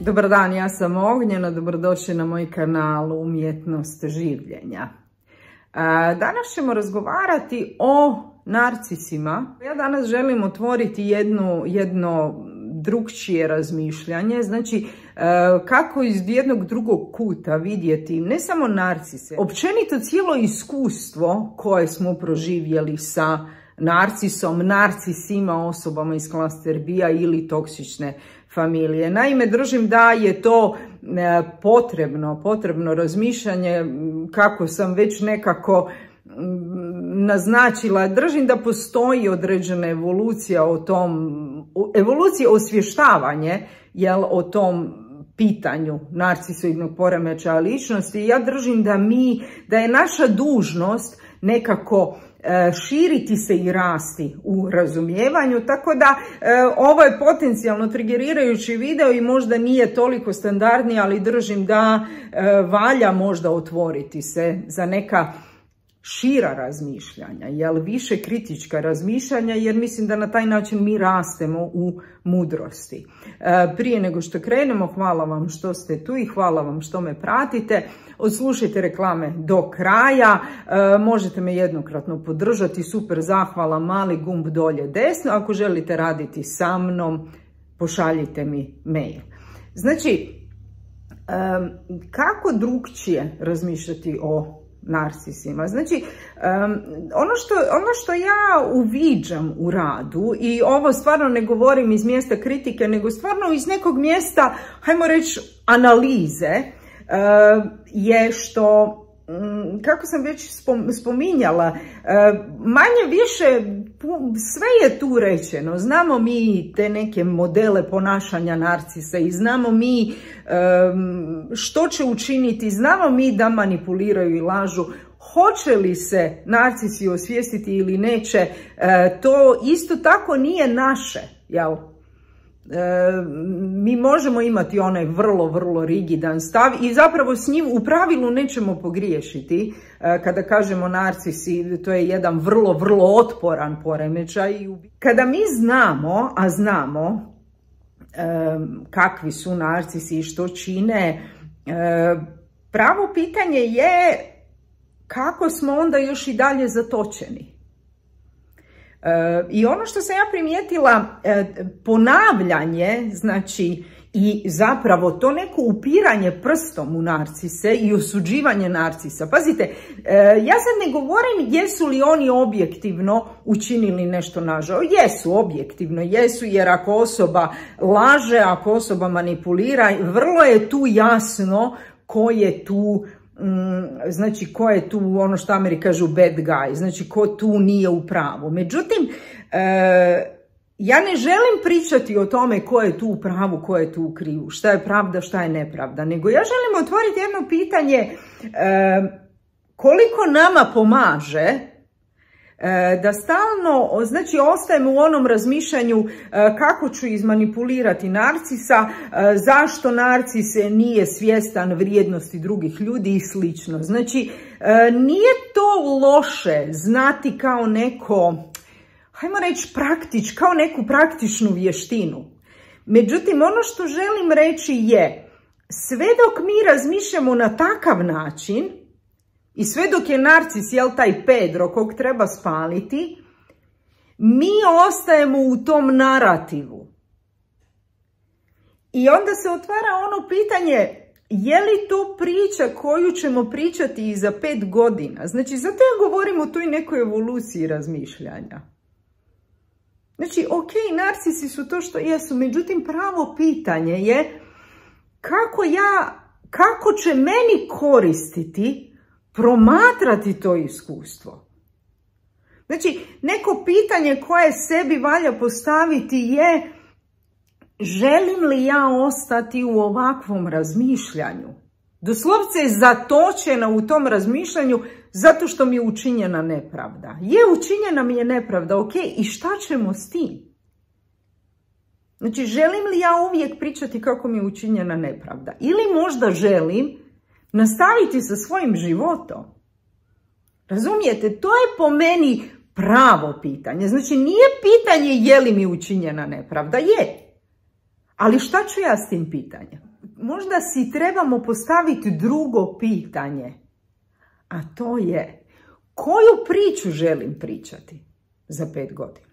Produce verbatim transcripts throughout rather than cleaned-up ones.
Dobar dan, ja sam Ognjena, dobrodošli na moj kanal Umjetnost življenja. Danas ćemo razgovarati o narcisima. Ja danas želim otvoriti jedno, jedno drugčije razmišljanje, znači kako iz jednog drugog kuta vidjeti ne samo narcise, općenito cijelo iskustvo koje smo proživjeli sa narcisom, narcisima, osobama iz klaster B-a ili toksične familije. Naime, držim da je to potrebno, potrebno razmišljanje, kako sam već nekako naznačila. Držim da postoji određena evolucija o tom, evolucija osvještavanje, jel, o tom pitanju narcisoidnog poremećaja ličnosti. Ja držim da mi, da je naša dužnost nekako širiti se i rasti u razumijevanju, tako da e, ovo je potencijalno trigerirajući video i možda nije toliko standardni, ali držim da e, valja možda otvoriti se za neka šira razmišljanja, jel, više kritička razmišljanja, jer mislim da na taj način mi rastemo u mudrosti. E, prije nego što krenemo, hvala vam što ste tu i hvala vam što me pratite. Odslušajte reklame do kraja, e, možete me jednokratno podržati, super zahvala, mali gumb dolje desno. Ako želite raditi sa mnom, pošaljite mi mail. Znači, e, kako drugčije razmišljati o narcisima? Znači, um, ono, što, ono što ja uviđam u radu, i ovo stvarno ne govorim iz mjesta kritike, nego stvarno iz nekog mjesta, hajmo reći, analize, uh, je što, um, kako sam već spom, spominjala, uh, manje više sve je tu rečeno. Znamo mi te neke modele ponašanja narcisa i znamo mi um, što će učiniti, znamo mi da manipuliraju i lažu. Hoće li se narcisi osvijestiti ili neće, uh, to isto tako nije naše, jel? E, mi možemo imati onaj vrlo, vrlo rigidan stav i zapravo s njim u pravilu nećemo pogriješiti. E, kada kažemo narcisi, to je jedan vrlo, vrlo otporan poremećaj. Kada mi znamo, a znamo e, kakvi su narcisi i što čine, e, pravo pitanje je kako smo onda još i dalje zatočeni. I ono što sam ja primijetila, ponavljanje, znači, i zapravo to neko upiranje prstom u narcise i osuđivanje narcisa. Pazite, ja sad ne govorim jesu li oni objektivno učinili nešto nažao. Jesu, objektivno jesu, jer ako osoba laže, ako osoba manipulira, vrlo je tu jasno ko je tu, znači ko je tu, ono što Ameri kažu bad guy, znači ko tu nije u pravu. Međutim, e, ja ne želim pričati o tome ko je tu u pravu, ko je tu u krivu, šta je pravda, šta je nepravda, nego ja želim otvoriti jedno pitanje, e, koliko nama pomaže da stalno, znači, ostajemo u onom razmišljanju kako ću izmanipulirati narcisa, zašto narcis nije svjestan vrijednosti drugih ljudi i slično. Znači, nije to loše znati kao neko, hajmo reći praktič, kao neku praktičnu vještinu. Međutim, ono što želim reći je, sve dok mi razmišljamo na takav način, i sve dok je narcis, jel, taj Pedro kog treba spaliti, mi ostajemo u tom narativu. I onda se otvara ono pitanje, je li to priča koju ćemo pričati i za pet godina? Znači, zato ja govorim o toj nekoj evoluciji razmišljanja. Znači, ok, narcisi su to što jesu, međutim, pravo pitanje je kako ja, kako će meni koristiti promatrati to iskustvo. Znači, neko pitanje koje sebi valja postaviti je, želim li ja ostati u ovakvom razmišljanju? Doslovce je zatočena u tom razmišljanju zato što mi je učinjena nepravda. Je, učinjena mi je nepravda, ok, i šta ćemo s tim? Znači, želim li ja uvijek pričati kako mi je učinjena nepravda? Ili možda želim nastaviti sa svojim životom? Razumijete? To je po meni pravo pitanje. Znači, nije pitanje je li mi učinjena nepravda. Je. Ali šta ću ja s tim pitanjem? možda si trebamo postaviti drugo pitanje, a to je koju priču želim pričati za pet godina.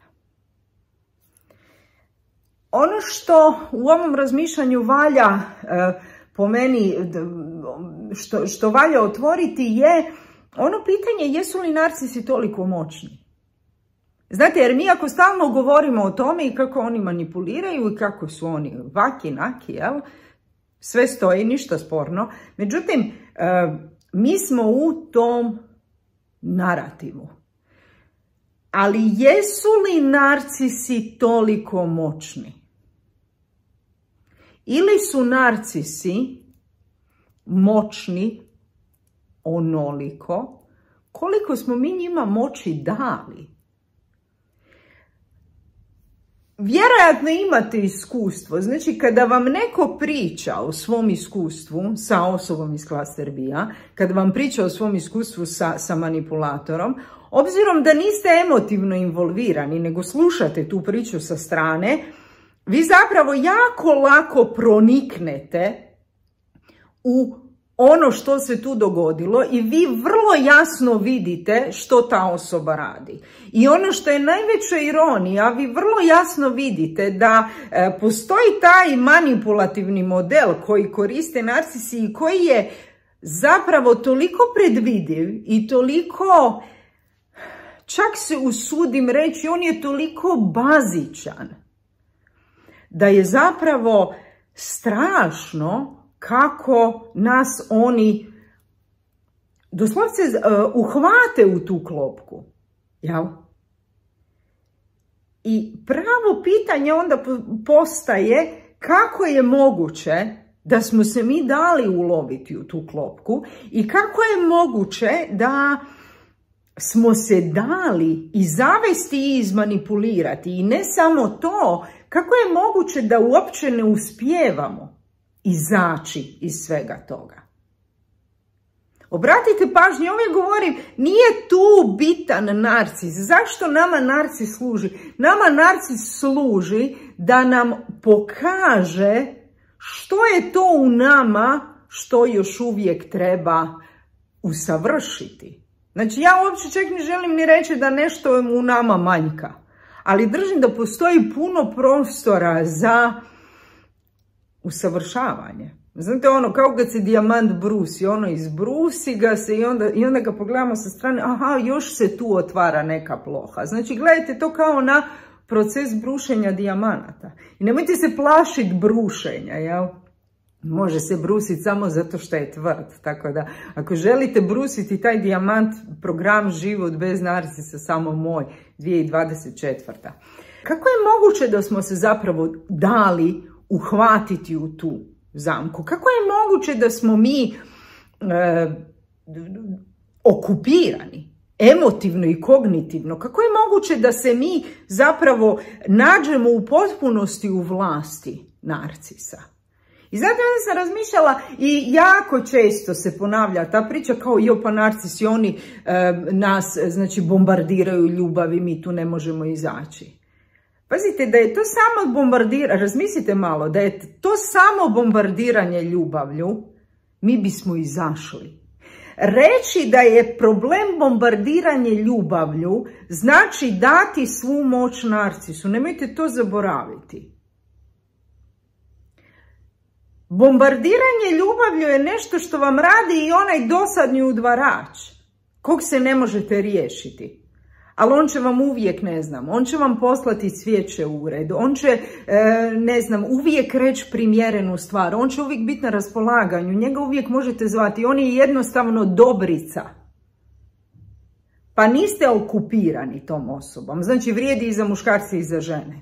Ono što u ovom razmišljanju valja, po meni, što, što valja otvoriti je ono pitanje jesu li narcisi toliko moćni. Znate, jer mi ako stalno govorimo o tome i kako oni manipuliraju i kako su oni vaki, naki, jel? Sve stoji, ništa sporno. Međutim, mi smo u tom narativu. Ali jesu li narcisi toliko moćni? Ili su narcisi moćni onoliko koliko smo mi njima moći dali? Vjerojatno imate iskustvo, znači kada vam neko priča o svom iskustvu sa osobom iz klaster B-a, kada vam priča o svom iskustvu sa, sa manipulatorom, obzirom da niste emotivno involvirani, nego slušate tu priču sa strane, vi zapravo jako lako proniknete u ono što se tu dogodilo i vi vrlo jasno vidite što ta osoba radi. I ono što je najveća ironija, vi vrlo jasno vidite da e, postoji taj manipulativni model koji koriste narcisi i koji je zapravo toliko predvidiv i toliko, čak se usudim reći, on je toliko bazičan da je zapravo strašno kako nas oni doslovce uh, uhvate u tu klopku. Jel? I pravo pitanje onda postaje kako je moguće da smo se mi dali uloviti u tu klopku i kako je moguće da smo se dali i zavesti i izmanipulirati. I ne samo to, kako je moguće da uopće ne uspijevamo izaći iz svega toga. Obratite pažnju, ovdje govorim, nije tu bitan narcis. Zašto nama narcis služi? Nama narcis služi da nam pokaže što je to u nama što još uvijek treba usavršiti. Znači, ja uopće čak ne želim ni reći da nešto u nama manjka, ali držim da postoji puno prostora za usavršavanje. Znate ono, kao kad se dijamant brusi, ono izbrusi ga se i onda, i onda ga pogledamo sa strane, aha, još se tu otvara neka ploha. Znači, gledajte to kao na proces brušenja dijamanata. I nemojte se plašiti brušenja, jel? Može se brusiti samo zato što je tvrd. Tako da, ako želite brusiti taj dijamant, program Život bez narcisa, samo moj, dvije tisuće dvadeset četvrta. Kako je moguće da smo se zapravo dali uhvatiti u tu zamku? Kako je moguće da smo mi e, okupirani, emotivno i kognitivno? Kako je moguće da se mi zapravo nađemo u potpunosti u vlasti narcisa? I zato onda sam razmišljala i jako često se ponavlja ta priča kao jo pa narcisi, oni e, nas znači bombardiraju ljubavi, mi tu ne možemo izaći. Pazite, da je to samo bombardiranje, razmislite malo, da je to samo bombardiranje ljubavlju, mi bismo izašli. Reći da je problem bombardiranje ljubavlju znači dati svu moć narcisu, nemojte to zaboraviti. Bombardiranje ljubavlju je nešto što vam radi i onaj dosadni udvarač, kog se ne možete riješiti. Ali on će vam uvijek, ne znam, on će vam poslati cvijeće u ured, on će, ne znam, uvijek reći primjerenu stvar, on će uvijek biti na raspolaganju, njega uvijek možete zvati, on je jednostavno dobrica. Pa niste okupirani tom osobom, znači vrijedi i za muškarce i za žene.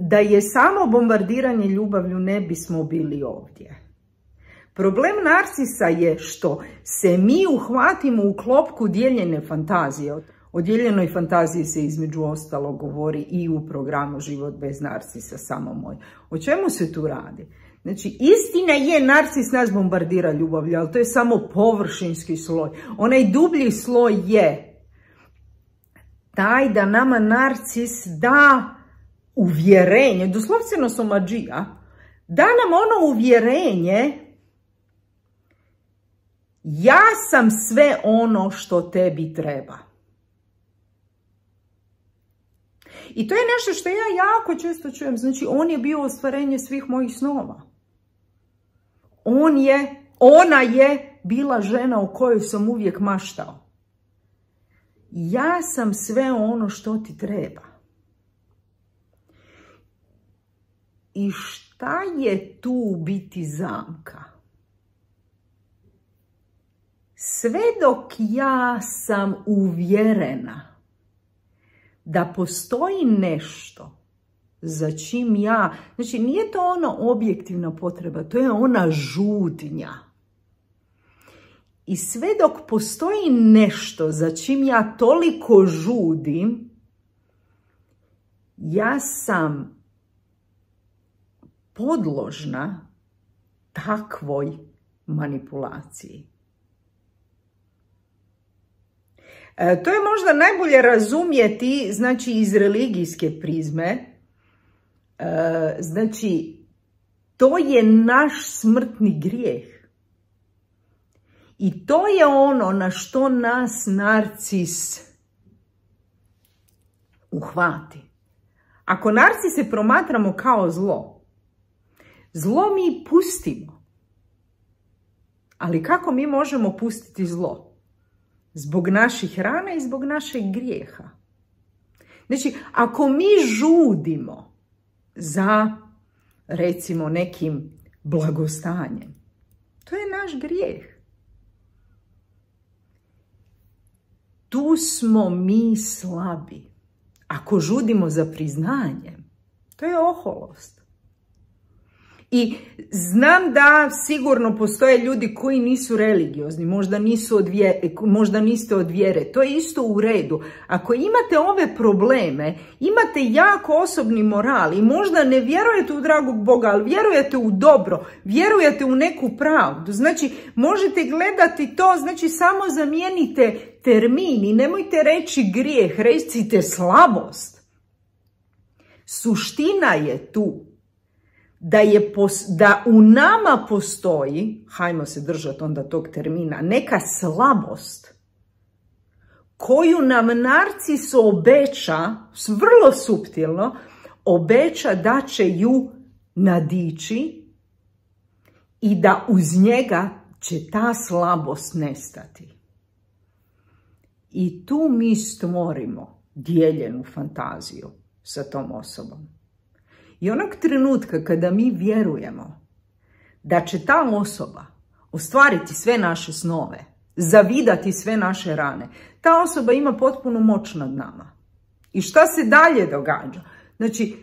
Da je samo bombardiranje ljubavlju ne bismo bili ovdje. Problem narcisa je što se mi uhvatimo u klopku dijeljene fantazije. O dijeljenoj fantaziji se između ostalog govori i u programu Život bez narcisa, samo moj. O čemu se tu radi? Znači, istina je, narcis nas bombardira ljubavlju, ali to je samo površinski sloj. Onaj dublji sloj je taj da nama narcis da uvjerenje, doslovceno somađija, da nam ono uvjerenje, ja sam sve ono što tebi treba. I to je nešto što ja jako često čujem. Znači, on je bio ostvarenje svih mojih snova. On je, ona je bila žena o kojoj sam uvijek maštao. Ja sam sve ono što ti treba. I šta je tu u biti zamka? Sve dok ja sam uvjerena da postoji nešto za čim ja, znači nije to ono objektivna potreba, to je ona žudnja. I sve dok postoji nešto za čim ja toliko žudim, ja sam podložna takvoj manipulaciji. E, to je možda najbolje razumjeti, znači, iz religijske prizme. E, znači, to je naš smrtni grijeh. I to je ono na što nas narcis uhvati. Ako narcise promatramo kao zlo, zlo mi pustimo. Ali kako mi možemo pustiti zlo? Zbog naših rana i zbog našeg grijeha. Znači, ako mi žudimo za, recimo, nekim blagostanjem, to je naš grijeh. Tu smo mi slabi. Ako žudimo za priznanjem, to je oholost. I znam da sigurno postoje ljudi koji nisu religiozni, možda, nisu od vjere, možda niste od vjere, to je isto u redu. Ako imate ove probleme, imate jako osobni moral i možda ne vjerujete u dragog Boga, ali vjerujete u dobro, vjerujete u neku pravdu. Znači, možete gledati to, znači samo zamijenite termin i nemojte reći grijeh, recite slabost. Suština je tu. Da, je, da u nama postoji, hajmo se držati onda tog termina, neka slabost koju nam narcis obeća, vrlo suptilno, obeća da će ju nadići i da uz njega će ta slabost nestati. I tu mi stvorimo dijeljenu fantaziju sa tom osobom. I onog trenutka kada mi vjerujemo da će ta osoba ostvariti sve naše snove, zavidati sve naše rane, ta osoba ima potpunu moć nad nama. I šta se dalje događa? Znači,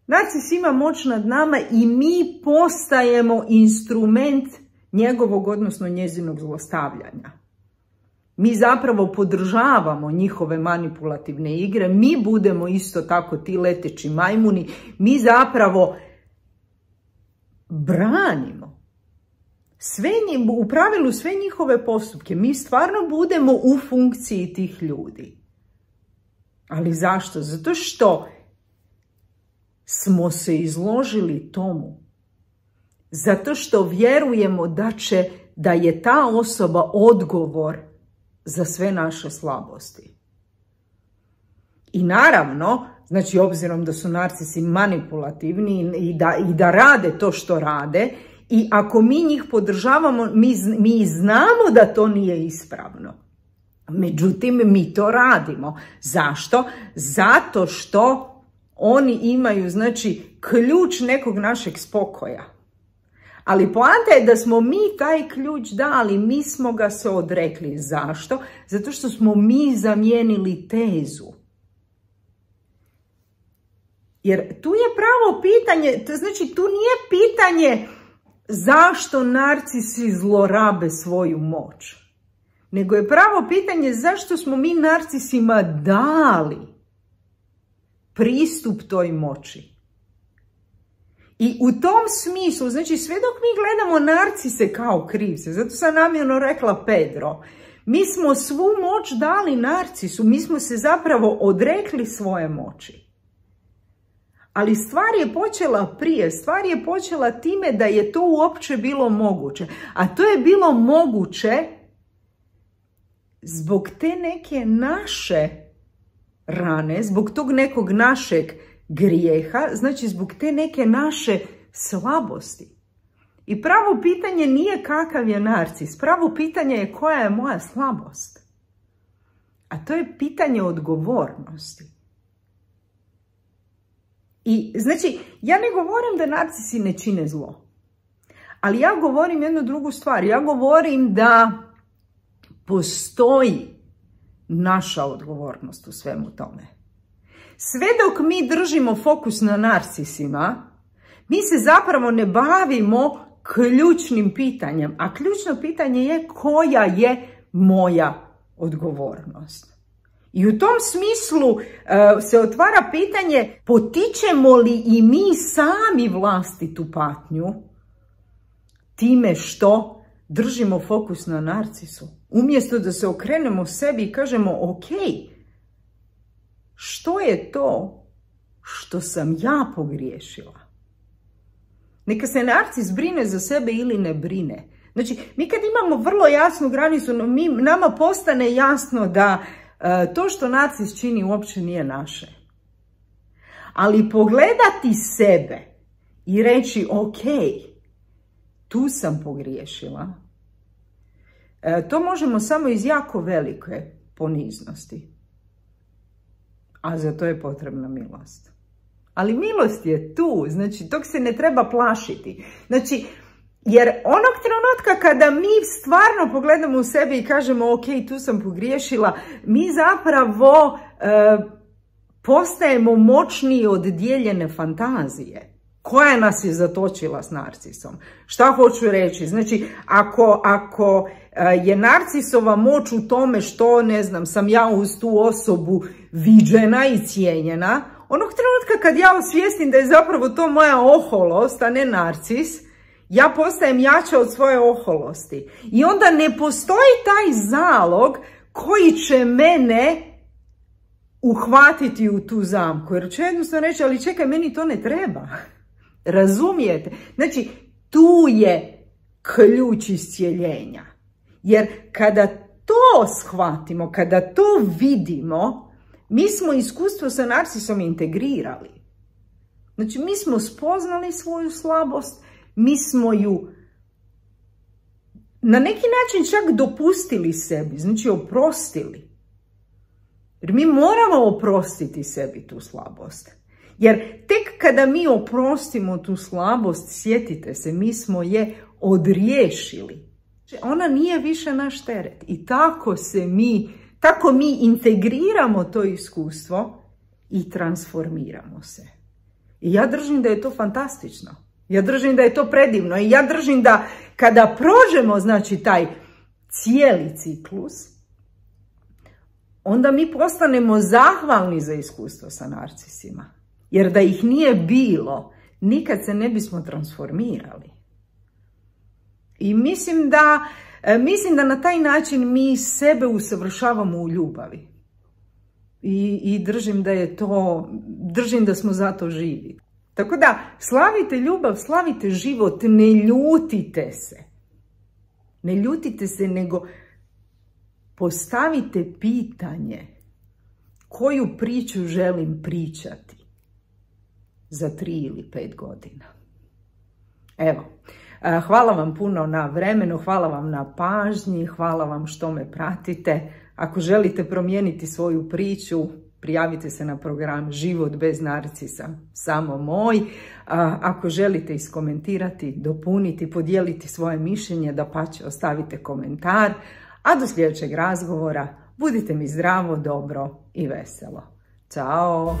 narcis ima moć nad nama i mi postajemo instrument njegovog, odnosno njezinog zlostavljanja. Mi zapravo podržavamo njihove manipulativne igre, mi budemo isto tako ti leteći majmuni, mi zapravo branimo sve, u pravilu sve njihove postupke, mi stvarno budemo u funkciji tih ljudi. Ali zašto? Zato što smo se izložili tomu. Zato što vjerujemo da će, da je ta osoba odgovor za sve naše slabosti. I naravno, znači obzirom da su narcisi manipulativni i da, i da rade to što rade, i ako mi njih podržavamo, mi, mi znamo da to nije ispravno. Međutim, mi to radimo. Zašto? Zato što oni imaju, znači, ključ nekog našeg spokoja. Ali poanta je da smo mi taj ključ dali, mi smo ga se odrekli. Zašto? Zato što smo mi zamijenili tezu. Jer tu je pravo pitanje, to znači tu nije pitanje zašto narcisi zlorabe svoju moć. Nego je pravo pitanje zašto smo mi narcisima dali pristup toj moći. I u tom smislu, znači sve dok mi gledamo narcise kao krivce, zato sam namjerno rekla Pedro, mi smo svu moć dali narcisu, mi smo se zapravo odrekli svoje moći. Ali stvar je počela prije, stvar je počela time da je to uopće bilo moguće. A to je bilo moguće zbog te neke naše rane, zbog tog nekog našeg grijeha, znači zbog te neke naše slabosti. I pravo pitanje nije kakav je narcis, pravo pitanje je koja je moja slabost. A to je pitanje odgovornosti. I znači, ja ne govorim da narcisi ne čine zlo, ali ja govorim jednu drugu stvar. Ja govorim da postoji naša odgovornost u svemu tome. Sve dok mi držimo fokus na narcisima, mi se zapravo ne bavimo ključnim pitanjem, a ključno pitanje je koja je moja odgovornost. I u tom smislu uh, se otvara pitanje potičemo li i mi sami vlastitu patnju time što držimo fokus na narcisu. Umjesto da se okrenemo sebi i kažemo ok, što je to što sam ja pogriješila? Neka se narcis brine za sebe ili ne brine. Znači, mi kad imamo vrlo jasnu granicu, mi, nama postane jasno da uh, to što narcis čini uopće nije naše. Ali pogledati sebe i reći ok, tu sam pogriješila, uh, to možemo samo iz jako velike poniznosti. A za to je potrebna milost. Ali milost je tu, znači tog se ne treba plašiti. Znači, jer onog trenutka kada mi stvarno pogledamo u sebe i kažemo ok, tu sam pogriješila, mi zapravo e, postajemo moćniji od dijeljene fantazije. Koja nas je zatočila s narcisom? Šta hoću reći? Znači, ako, ako je narcisova moć u tome što, ne znam, sam ja uz tu osobu viđena i cijenjena, onog trenutka kad ja osvijestim da je zapravo to moja oholost, a ne narcis, ja postajem jača od svoje oholosti. I onda ne postoji taj zalog koji će mene uhvatiti u tu zamku. Jer će jednostavno reći, ali čekaj, meni to ne treba. Razumijete? Znači, tu je ključ iscijeljenja. Jer kada to shvatimo, kada to vidimo, mi smo iskustvo sa narcisom integrirali. Znači, mi smo spoznali svoju slabost, mi smo ju na neki način čak dopustili sebi, znači oprostili. Jer mi moramo oprostiti sebi tu slabost. Jer tek kada mi oprostimo tu slabost, sjetite se, mi smo je odriješili. Ona nije više naš teret. I tako se mi, tako mi integriramo to iskustvo i transformiramo se. I ja držim da je to fantastično. Ja držim da je to predivno. I ja držim da kada prođemo, znači, taj cijeli ciklus, onda mi postanemo zahvalni za iskustvo sa narcisima. Jer da ih nije bilo, nikad se ne bismo transformirali. I mislim da, mislim da na taj način mi sebe usavršavamo u ljubavi. I, i držim da je to, držim da smo zato živi. Tako da, slavite ljubav, slavite život, ne ljutite se. Ne ljutite se, nego postavite pitanje koju priču želim pričati za tri ili pet godina. Evo, hvala vam puno na vremenu, hvala vam na pažnji, hvala vam što me pratite. Ako želite promijeniti svoju priču, prijavite se na program Život bez narcisa, samo moj. Ako želite iskomentirati, dopuniti, podijeliti svoje mišljenje, dapače ostavite komentar. A do sljedećeg razgovora budite mi zdravo, dobro i veselo. Ćao!